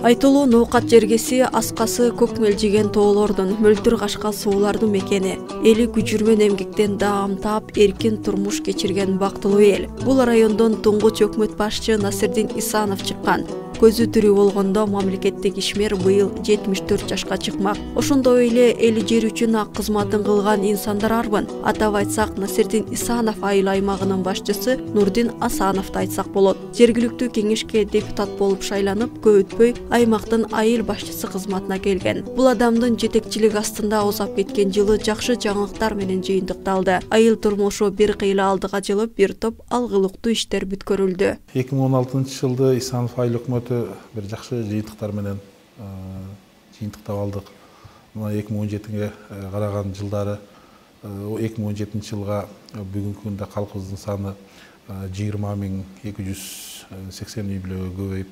Айтылуу Ноокат жергеси аскасы көк мелжиген тоолордун, мөлдүр кашкал суулардын мекени. Эли күчүрмөн эмгектен даам таап, эркин турмуш кечирген бактылуу эл. Бул райондон туңгуч өкмөт башчы Насирдин Исанов чыккан. Көзү тирүү болгондо мамлекеттик ишмер быйыл 74 жашка чыкмак. Ошондой эле эли жер үчүн ак кызматын кылган инсандар арбын. Атап айтсак, Насирдин Исанов айыл аймагынын башчысы Нурдин Асановду айтсак болот. Жергиликтүү кеңешке депутат болуп шайланып, көп өтпөй аймактын айыл башчысы кызматына келген. Бул адамдын жетекчилик астында озап кеткен жылы жакшы жаңылыктар менен жыйынтыкталды. Айыл турмушу бир кыйла алдыга жылып, бир топ алгылыктуу иштер бүткөрүлдү. 2016-жылы Исанов айыл өкмөтү бир жакшы жыйынтыктар менен жыйынтыктап алдык. Мына 2017-ге караган жылдары 2017-жылга бүгүнкү күндө калкыбыздын саны 20.280 үй бүлөгө көбөйүп,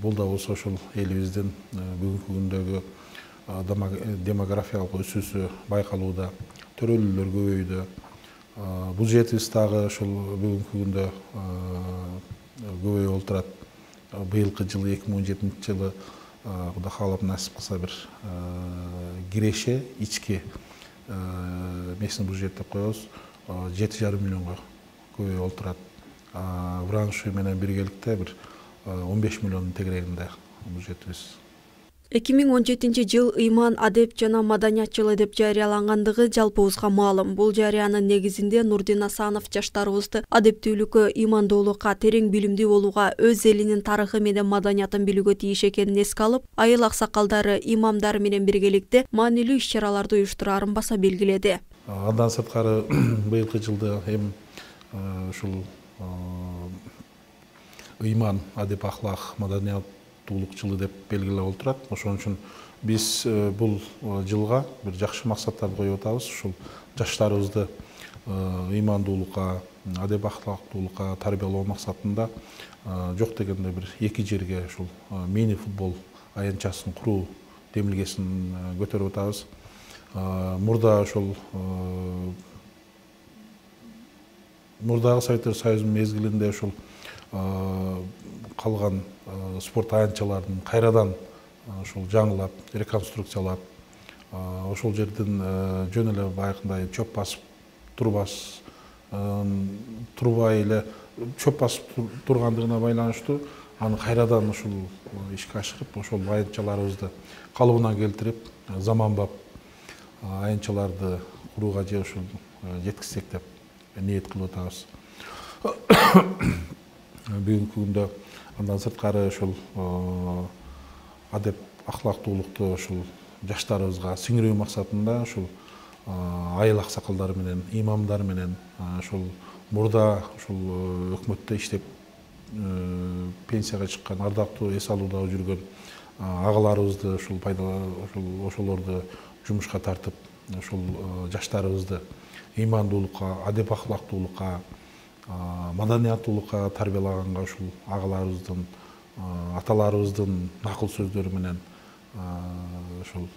бул да болсо ошол элибиздин бүгүнкү күндөгү демографиялык өсүүсү байкалууда, төрөлүүлөр көбөйдү. Бюджетибиз дагы ошол бүгүнкү күндө көбөйүп отурат. Быйылкы жылы 2017-жылы Кудай каалап насип кылса бир киреше ички местный бюджет деп коебуз, 7,5 миллионго көбөйүп отурат. Вранши менен биргеликте бир 15 миллиондун тегерегинде бюджетибиз. 2017 жыл ыйман, адеп жана маданият жылы деп жарыялангандыгы жалпыбызга маалым. Бул жарыянын негизинде Нурдин Асанов жаштарыбызды адептүүлүккө, ыймандуулукка, терең билимдүү болууга, өз элинин тарыхы менен маданиятын билүүгө тийиш экенин эске алып, айыл аксакалдары, имамдары менен биргеликте маанилүү иш-чараларды уюштураарын баса белгиледи. Андан сырткары быйылкы жылда эми ушул ыйман, адеп, ахлак, маданият жылы деп белгилеп отурат. Ошон үчүн биз бул жылга бир жакшы максаттарды коюп атабыз. Ушул жаштарыбызды ыймандуулукка, адеп ахлактуулукка тарбиялоо максатында жок дегенде бир 2 жерге ушул мини футбол аянтчасын куруу демилгесин көтөрүп атабыз. Мурда ошол мурдагы Советтер Союзунун мезгилинде ушул калган спорт аянтчаларын кайрадан ошол жаңылап, реконструкциялап, ошол жерден жөн эле байкындай чөп басып турбай эле чөп басып тургандыгына байланыштуу аны кайрадан ушул ишке ашырып, ошол аянтчаларыбызды калыбына келтирип, заманбап аянтчаларды курууга же ушул жеткизсек деп ниет кылып атабыз. Бүгүнкү күндө андан сырткары ушул адеп ахлактуулукту ушул жаштарыбызга сиңирүү максатында ушул айыл аксакалдары менен, имамдар менен ушул мурда ушул өкмөттө иштеп пенсияга чыккан, ардактуу эс алуудагы жүргөн агаларыбызды ушул ошолорду жумушка тартып, ушул жаштарыбызды ыймандуулукка, адеп ахлактуулукка, маданияттуулукка тарбиялаганга ушул агаларыбыздын, аталарыбыздын накыл сөздөрү менен ушул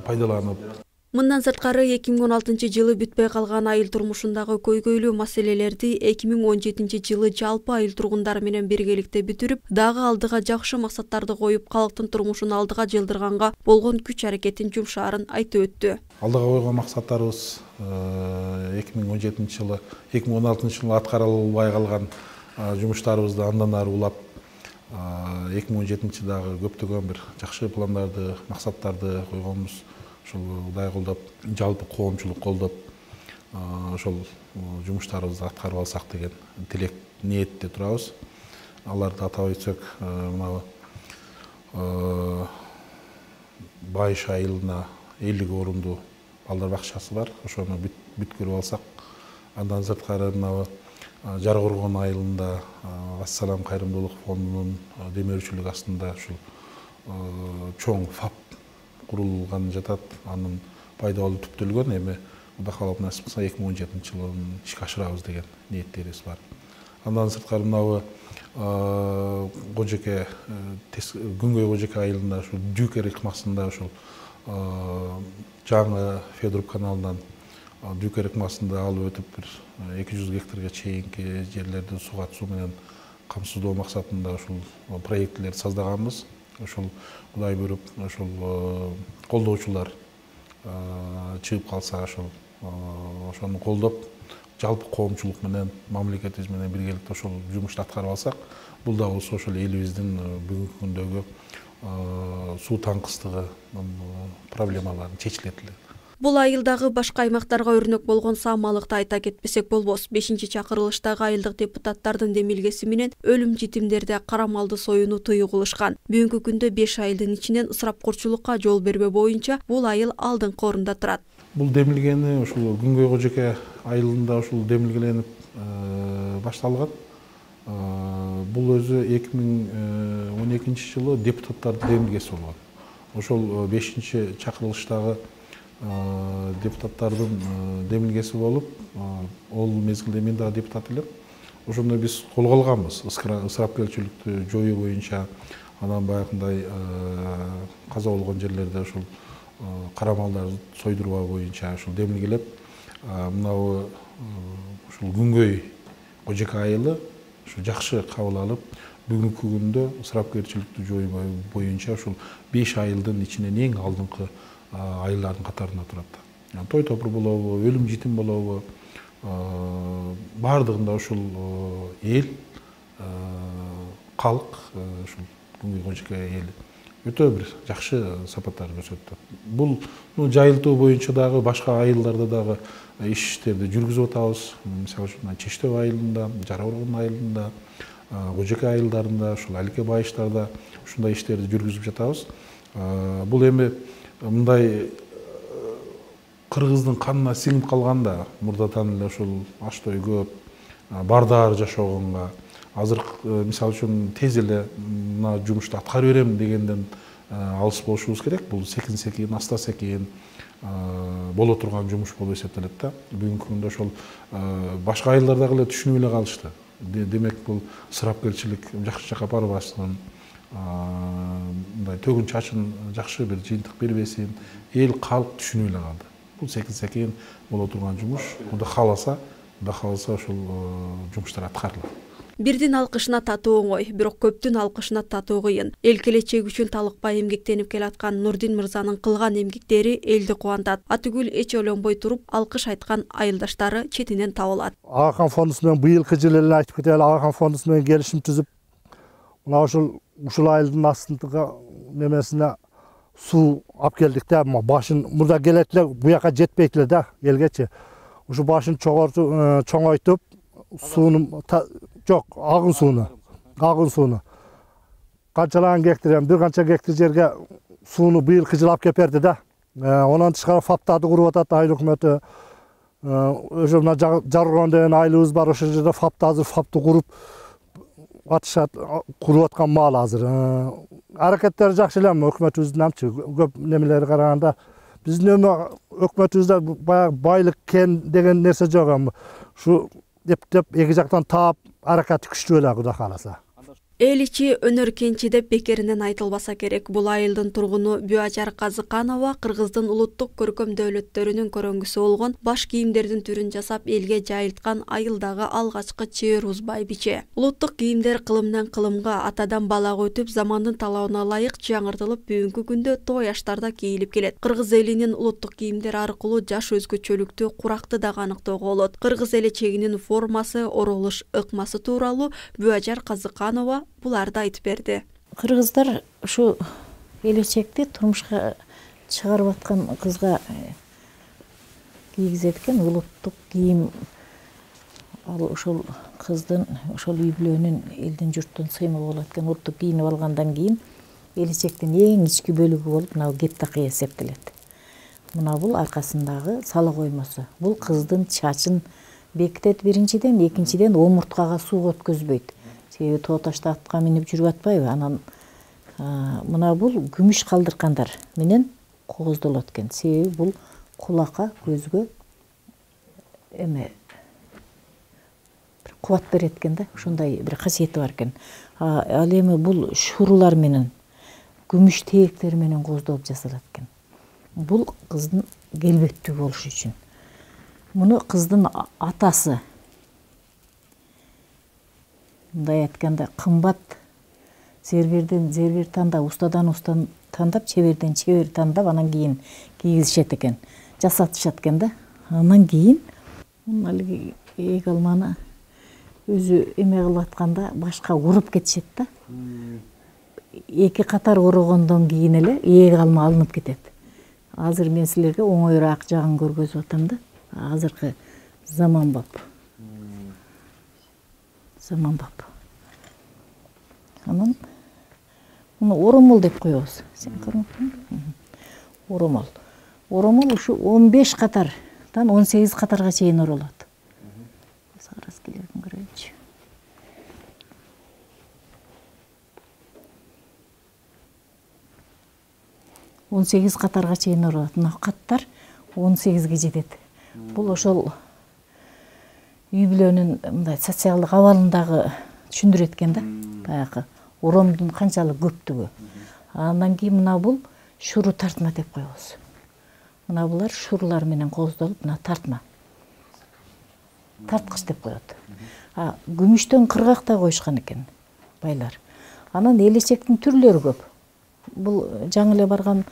пайдаланып. Мындан сырткары 2016-жылы бүтпөй калган айыл турмушундагы көйгөйлүү маселелерди 2017-жылы жалпы айыл тургундары менен биргеликте бүтүрүп, дагы алдыга жакшы максаттарды коюп, калктын турмушун алдыга жылдырганга болгон күч аракетин жумшаарын айтып өттү. Алдыга койгон максаттарыбыз 2016-жылы аткарылбай калган жумуштарыбызды андан ары улап, 2017-жылы дагы көптөгөн бир жакшы пландарды, максаттарды койгонбуз. Ошол Кудай колдоп, жалпы коомчулук колдоп, ошол жумуштарыбызды аткарып алсак деген тилек, ниетте турабыз. Аларды атап өтсөк, мына Байыш айылына 50 орундуу балдар бакчасы бар. Ошону бүткөрүп алсак, андан сырткары мына Жаркоргон айылында Ассалам кайрымдуулук фондунун демөөрчүлүгү астында ушул чоң ФАП курулган жатат. Анын пайдалуу түптөлгөн. Эми Кудай каалап насип кылса 2017-жылы ишке ашырабыз деген ниеттерибиз бар. Андан сырткары мына Кожоке, Күнгөй Кожоке айылында ушул Дюкер ыкмасында ушул жаңы Федоруп каналынан Дюкер ыкмасында алып өтүп бир 200 гектарга чейинки жерлерди суга суу менен камсыздоо максатында ушул проектилерди создаганбыз. Ошол Кудай буйруп, ошол колдоочулар чыгып калса, ошону колдоп, жалпы коомчулук менен, мамлекетибиз менен биргеликте ошол жумушту аткарып алсак, бул дагы ошол элибиздин бүгүнкү күндөгү суу таңкыстыгы проблемалары чечилет эле. Бул айылдагы башка аймактарга өрнөк болгон саамалыкты айта кетпесек болбос. 5-чакырылыштагы айылдык депутаттардын демилгеси менен өлүм житимдерде карамалды союуну тыюу кылышкан. Бүгүнкү күндө 5 айылдын ичинен ысырапкорчулукка жол бербөө боюнча бул айыл алдыңкы орунда турат. Бул демилгени ушул Күнгөй Кожоке айылында ушул демилгеленип башталган. Бул өзү 2012 жылы депутаттардын демилгеси болгон. Ошол 5-чакырылыштагы депутаттардын демилгеси болуп, ол мезгилде мен дагы депутат элем. Ошондо биз колго алганбыз ысырапкерчиликти жоюу боюнча, анан баягындай каза болгон жерлерде ушул карамалдарды сойдурбоо боюнча ушул демилгелеп, мынабу ушул Күнгөй Кожоке айылы ушу жакшы кабыл алып, бүгүнкү күндө ысырапкерчиликти жоюу боюнча ушул 5 айылдын ичинен эң алдыңкы айылдардын катарында турат. Той топур болобу, өлүм житим болобу, баардыгында ушул эл, калк, ушул Күнгөй Кожоке эли өтө бир жакшы сапаттар көрсөттү. Бул жайылтуу боюнча дагы башка айылдарда дагы иштерди жүргүзүп атабыз. Мисалы үчүн Чештөө айылында, Жара Оргон айылында, Кожоке айылдарында, ушул Алике Байыштарда ушундай иштерди жүргүзүп жатабыз. Бул эми мындай кыргыздын канына сиңип калганда, мурдатан эле ушул аш-той көп, бардаар жашогонго, азыр мисалы үчүн тез эле мына жумушту аткарып берем дегенден алыс болушубуз керек. Бул секин-секин, аста-секин боло турган жумуш болуп эсептелет да. Бүгүнкү күндө ошол башка айылдардагы эле түшүнүп эле калышты. Демек бул ысырапкерчилик жакшы жакка барбасын, мындай төгүн чачын жакшы бир жыйынтык бербесин, эл калк түшүнүп эле калды. Бул секин-секин боло турган жумуш. Кудай кааласа ошол жумуштар аткарылат. Бирдин алкышына татуу оңой, бирок көптүн алкышына татуу кыйын. Эл келечеги үчүн талыкпай эмгектенип келаткан Нурдин мырзанын кылган эмгектери элди кубантат. Атүгүл эч ойлонбой туруп алкыш айткан айылдаштары четинен табылат. Агахан фондусу менен быйылкы жылы эле айтып кетели, Агахан фондусу менен келишим түзүп, мына ушул айылдын астындагы немесине суу алып келдик да. Башын мурда келет эле, буяка жетпейт эле да элгечи. Ушу башын чоңойтуп, сууну жок, агын сууну. Канчалаган гектар, бир канча гектар жерге сууну быйылкы жылы алып келип берди да. Онан тышкары фаптарды куруп атат айыл өкмөтү. Ошо мына Жаргон деген айылыбыз бар, ошол жерде фапты куруп атышат, куруп аткан маал азыр. Аракеттери жакшы эле, өкмөтүбүздүн амчы көп немелери караганда. Биздин өкмөтүбүздө баягы байлык кен деген нерсе жок. Ушу деп эки жактан таап аракети күчтүү эле, Кудай кааласа. Эл ичи өнөр кенчи деп бекеринен айтылбаса керек. Бул айылдын тургуну Бүажар Казыканова кыргыздын улуттук көркөм дөөлөттөрүнүн көрөңгүсү болгон баш кийимдердин түрүн жасап элге жайылткан айылдагы алгачкы чебер узбай биче. Улуттук кийимдер кылымдан кылымга, атадан балага өтүп, замандын талабына ылайык жаңыртылып, бүгүнкү күндө той аштарда кийилип келет. Кыргыз элинин улуттук кийимдери аркылуу жаш өзгөчөлүктү, куракты дагы аныктоого болот. Кыргыз элечегинин формасы, оролуш ыкмасы тууралуу Бүажар Казыканова буларды айтып берди. Кыргыздар ушу келечекти турмушка чыгарып аткан кызга кийгизет экен улуттук кийим. Ал ошол кыздын ошол үй бүлөнүн элдин журттун сыймыгы болот экен. Улуттук кийинип алгандан кийин келечектин эң ички бөлүгү болуп мына кеп такый эсептелет. Мына бул аркасындагы сала коймосу. Бул кыздын чачын бекитет биринчиден, экинчиден омурткага суу өткөзбөйт. Себеби тоо ташта атка минип жүрүп атпайбы? Анан мына бул күмүш калдыркандар менен кооздолот экен. Себеби бул кулакка, көзгө эме кубат берет экен да. Ошондой бир касиети бар экен. Ал эми бул шурулар менен, күмүш тээктер менен кооздолуп жасалат экен. Бул кыздын келбеттүү болушу үчүн. Муну кыздын атасы мындай айтканда кымбат зерберден зербер тандап, устадан уста тандап, чеберден чебер тандап, анан кийин кийгизишет экен, жасатышат экен да. Анан кийин алиги ээг алманы өзү эме кылып атканда башка уруп кетишет да. 2 катар урогондон кийин эле ээг алма алынып кетет. Азыр мен силерге оңоюраак жагын көргөзүп атам да. Азыркы заманбап. Анан муну оромол деп коебуз. Сен көрмөкпүң? Оромол. Оромол ушу 15 катардан 18 катарга чейин оролот. Раскилерин көрөйүнчү. Он 18 катарга чейин оролот. Мына каттар 18ге жетет. Бул ошол үй бүлөнүн мындай социалдык абалындагы түшүндүрөт экен да. Баягы оромдун канчалык көптүгү. Андан кийин мына бул шуру тартма деп коебуз. Мына булар шурулар менен кооздолуп, мына тартма. Тарткыч деп коет. Күмүштөн кыргак да коюшкан экен байлар. Анан элечектин түрлөрү көп. Бул жаңы эле барган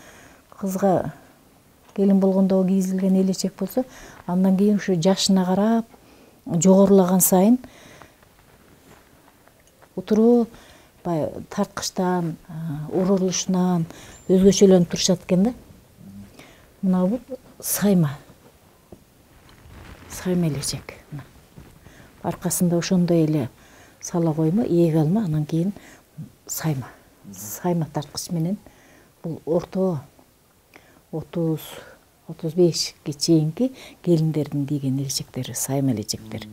кызга келин болгондо кийизилген элечек болсо, андан кийин ушу жашына карап жогорулаган сайын утуруу бай тарткычтан, оролушунан өзгөчөлөнүп турушат экен да. Мына бул сайма. Сайма элечек. Аркасында ошондой эле сала коймо, ээг алма, анан кийин сайма. Сайма тарткыч менен бул орто 30-35ке чейинки келиндердин кийген элечектери, сайма элечектер.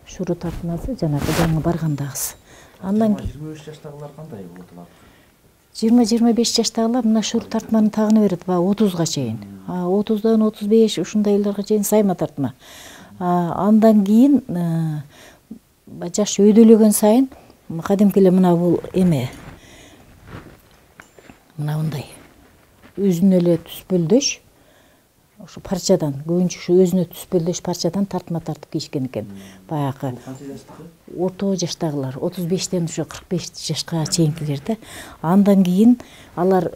Шуру тартмасы жанагы жаңы баргандагысы. Андан 25 жаштагылар кандай болот алар? 20-25 жаштагылар мына шуру тартманы тагына берет, 30га чейин. 30дан 35 ушундай элдерге чейин сайма тартма. Андан кийин жаш өйдөлөгөн сайын кадимки эле мына бул эме мына мындай өзүнө эле түспөлдөш, ошо парчадан, көбүнчө ушу өзүнө түспөлдөш парчадан тартма тартып кийишкен экен. Баягы орто жаштагылар, 35тен ушу 45 жашка чейинкилер да. Андан кийин алар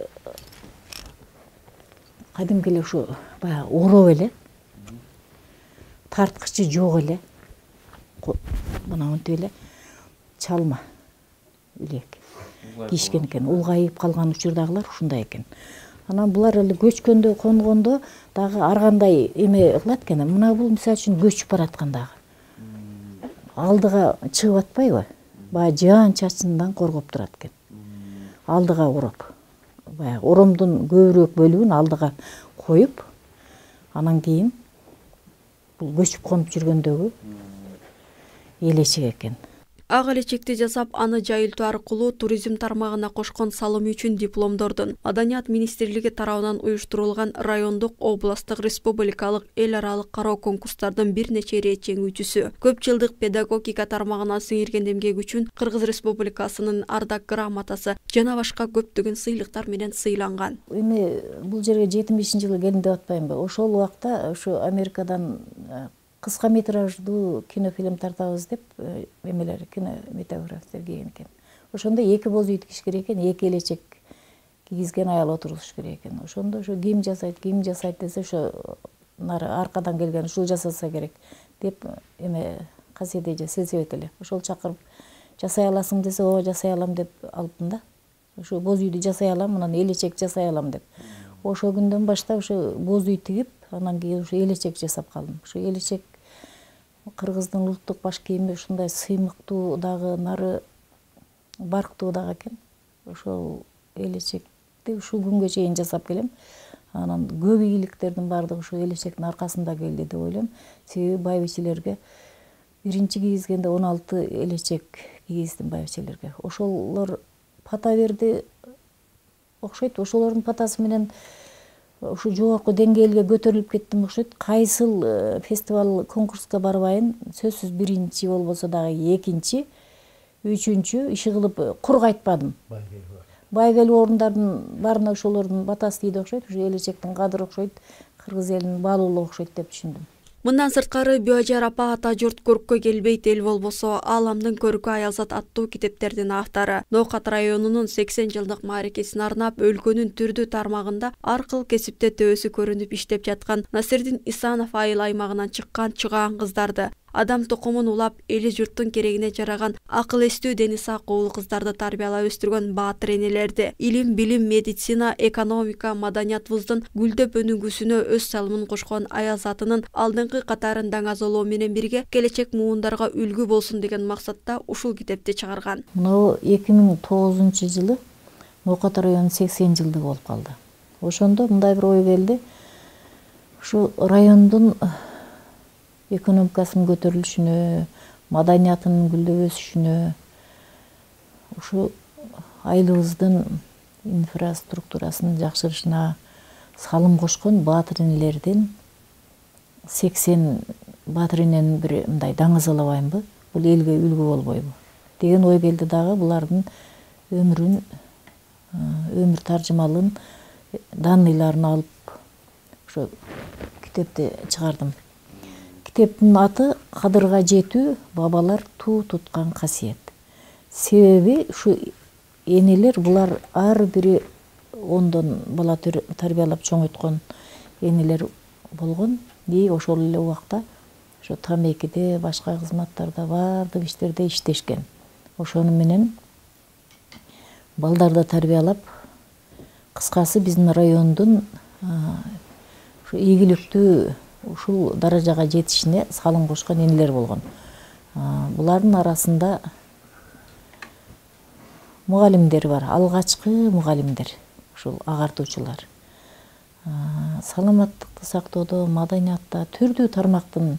кадимки эле ушу баягы ороп эле, тарткычы жок эле, мына мынтип эле чалма илек кийишкен экен. Улгайып калган учурдагылар ушундай экен. Анан булар эле көчкөндө, конгондо дагы ар кандай эме кылат экен. Мына бул мисалы үчүн көчүп бараткандагы. Алдыга чыгып атпайбы? Баягы жаан чачындан коргоп турат экен. Алдыга ороп. Баягы оромдун көбүрөөк бөлүгүн алдыга коюп, анан кийин бул көчүп конуп жүргөндөгү элечек экен. Ак элечекти жасап, аны жайылтуу аркылуу туризм тармагына кошкон салымы үчүн дипломдордун Маданият министрлиги тарабынан уюштурулган райондук, областтык, республикалык, эл аралык кароо конкурстардын бир нече ирет жеңүүчүсү, көп жылдык педагогика тармагына сиңирген эмгеги үчүн Кыргыз Республикасынын ардак грамотасы жана башка көптөгөн сыйлыктар менен сыйланган. Эми бул жерге 75-жылы келдим деп атпаймынбы? Ошол убакта ошо Америкадан кыска метраждуу кинофильм тартабыз деп эмелер, кинометографтер келген экен. Ошондо 2 боз үй тигиш керек экен, 2 элечек кийгизген аял отургузуш керек экен. Ошондо ошо ким жасайт десе, ошо нары аркадан келген ушул жасаса керек деп эме касиет эже сельсовет эле. Ошол чакырып жасай аласың десе, ооба жасай алам деп алыптым да. Ошо боз үйдү жасай алам, анан элечек жасай алам деп. Ошол күндөн баштап ошо боз үй тигип, анан кийин ошо элечек жасап калдым. Ошо элечек Кыргыздын улуттук баш кийими ушундай сыймыктуу дагы, нары барктуу дагы экен. Ошол элечекти ушул күнгө чейин жасап келем. Анан көп ийгиликтердин баардыгы ушул элечектин аркасында келди деп ойлойм. Себеби байбичелерге биринчи кийгизгенде 16 элечек кийгиздим байбичелерге. Ошолор пата берди окшойт. Ошолордун патасы менен ушу жогорку деңгээлге көтөрүлүп кеттим окшойт. Кайсыл фестиваль, конкурска барбайын, сөзсүз биринчи болбосо дагы экинчи, үчүнчү иши кылып кур кайтпадым. Байгелүү орундардын баарына ошолордун батасы тийди окшойт. Ушу элечектин кадыры окшойт, кыргыз элинин баалуулугу окшойт деп түшүндүм. Мындан сырткары Бүажар апа ата журт көрккө келбейт эл болбосо ааламдын көркү аялзат аттуу китептердин автору. Ноокат районунун 80 жылдык мааракесине арнап өлкөнүн түрдүү тармагында ар кыл кесипте төбөсү көрүнүп иштеп жаткан Насирдин Исанов айыл аймагынан чыккан чыгаан кыздарды, адам тукумун улап эли журттун керегине жараган акыл эстүү дени сак уулу кыздарды тарбиялап өстүргөн баатыр энелерди, илим, билим, медицина, экономика, маданиятыбыздын гүлдөп өнүгүүсүнө өз салымын кошкон аялзатынын алдыңкы катарын даңазалоо менен бирге келечек муундарга үлгү болсун деген максатта ушул китепти чыгарган. Мына 2009-жылы Ноокат районунун 80 жылдыгы болуп калды. Ошондо мындай бир ой келди. Ушу райондун экономикасынын көтөрүлүшүнө, маданиятынын гүлдөп өсүшүнө, ушу айылыбыздын инфраструктурасынын жакшырышына салым кошкон баатыр энелердин 80 баатыр эненин бир мындай даңазалабайынбы, бул элге үлгү болбойбу деген ой келди дагы. Булардын өмүр таржымалын данныйларын алып ошо китепти чыгардым. Китептин аты «Кадырга жетүү, бабалар туу туткан касиет». Себеби ушу энелер булар ар бири 10 бала тарбиялап чоңойткон энелер болгон. Ошол эле убакта ошо тамекиде, башка кызматтарда, баардык иштерде иштешкен. Ошону менен балдарды тарбиялап, кыскасы биздин райондун ушу ийгиликтүү ушул даражага жетишине салым кошкон энелер болгон. Булардын арасында мугалимдер бар, алгачкы мугалимдер, ушул агартуучулар. Саламаттыкты сактоодо, маданиятта түрдүү тармактын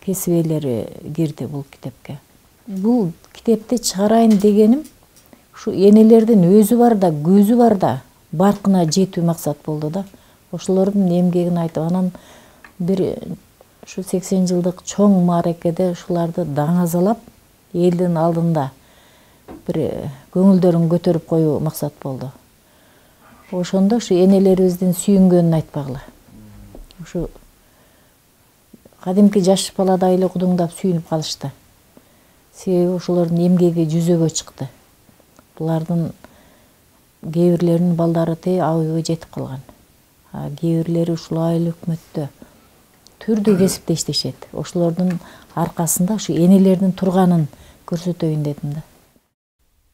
кесип ээлери кирди бул китепке. Бул китепти чыгарайын дегеним ушу энелердин өзү бар да, көзү бар да, баркына жетүү максат болду да. Ошолордун эмгегин айтып, анан бир ушу 80 жылдык чоң мааракеде ушуларды даңазалап, элдин алдында бир көңүлдөрүн көтөрүп коюу максат болду. Ошондо ушу энелерибиздин сүйүнгөнүн айтпагыла. Ушу кадимки жаш баладай эле кудуңдап сүйүнүп калышты. Себеби ошолордун эмгеги жүзөгө чыкты. Булардын кээ бирлеринин балдары абыйга жетип калган. Кээ бирлери ушул айыл өкмөттө түрдүү кесипте иштешет. Ошолордун аркасында ушу энелердин турганын көрсөтөйүн дедим да.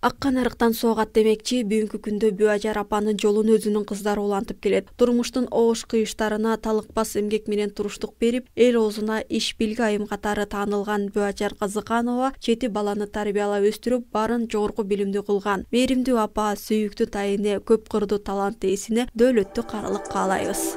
Аккан арыктан соогат демекчи, бүгүнкү күндө Бүажар апанын жолун өзүнүн кыздары улантып келет. Турмуштун оош кыйыштарына талыкпас эмгек менен туруштук берип, эл оозуна иш билги айым катары таанылган Бүажар Казыканова 7 баланы тарбиялап өстүрүп, баарын жогорку билимдүү кылган. Мээримдүү апа, сүйүктүү тайыне, көп кырдуу талант ээсине дөөлөттүү карылык каалайбыз.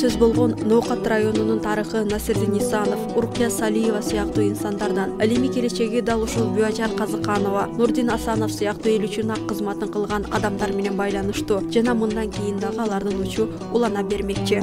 Сөз болгон Ноокат районунун тарыхы Насирдин Исанов, Уркия Салиева сыяктуу инсандардан, ал эми келечеги дал ушул Бүажар Казыканова, Нурдин Асанов сыяктуу эл үчүн ак кызматын кылган адамдар менен байланыштуу жана мындан кийин дагы алардын учу улана бермекчи.